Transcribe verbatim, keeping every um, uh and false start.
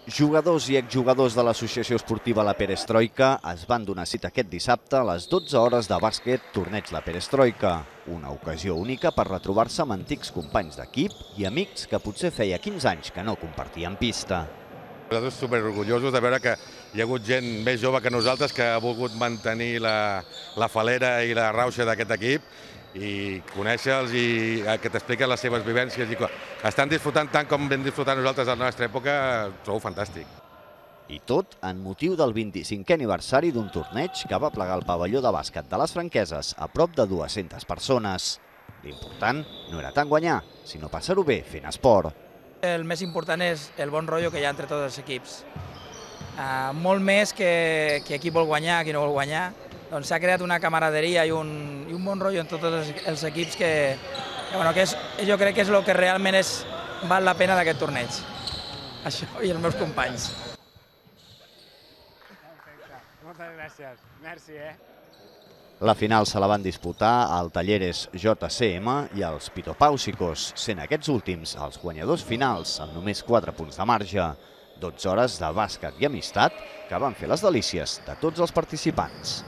Jugadors i exjugadors de l'associació esportiva La Perestroika es van donar cita aquest dissabte a les dotze hores de bàsquet Torneig La Perestroika, una ocasió única per retrobar-se amb antics companys d'equip i amics que potser feia quinze anys que no compartien pista. Nosaltres superorgullosos de veure que hi ha hagut gent més jove que nosaltres que ha volgut mantenir la, la falera i la rauxa d'aquest equip i conèixer-los i que t'expliquen les seves vivències i que estan disfrutant tant com vam disfrutar nosaltres a la nostra època, trobo fantàstic. I tot en motiu del vint-i-cinquè aniversari d'un torneig que va plegar el pavelló de bàsquet de les Franqueses a prop de dues-centes persones. L'important no era tant guanyar, sinó passar-ho bé fent esport. El més important és el bon rotllo que hi ha entre tots els equips. Uh, molt més que, que qui vol guanyar, qui no vol guanyar. Doncs s'ha creat una camaraderia i un, i un bon rotllo en tots els, els equips que, que, bueno, que és, jo crec que és el que realment és, val la pena d'aquest torneig. Això i els meus companys. Moltes gràcies. Merci, eh? La final se la van disputar al Talleres J C M i els Pitopàusicos, sent aquests últims els guanyadors finals amb només quatre punts de marge. dotze hores de bàsquet i amistat que van fer les delícies de tots els participants.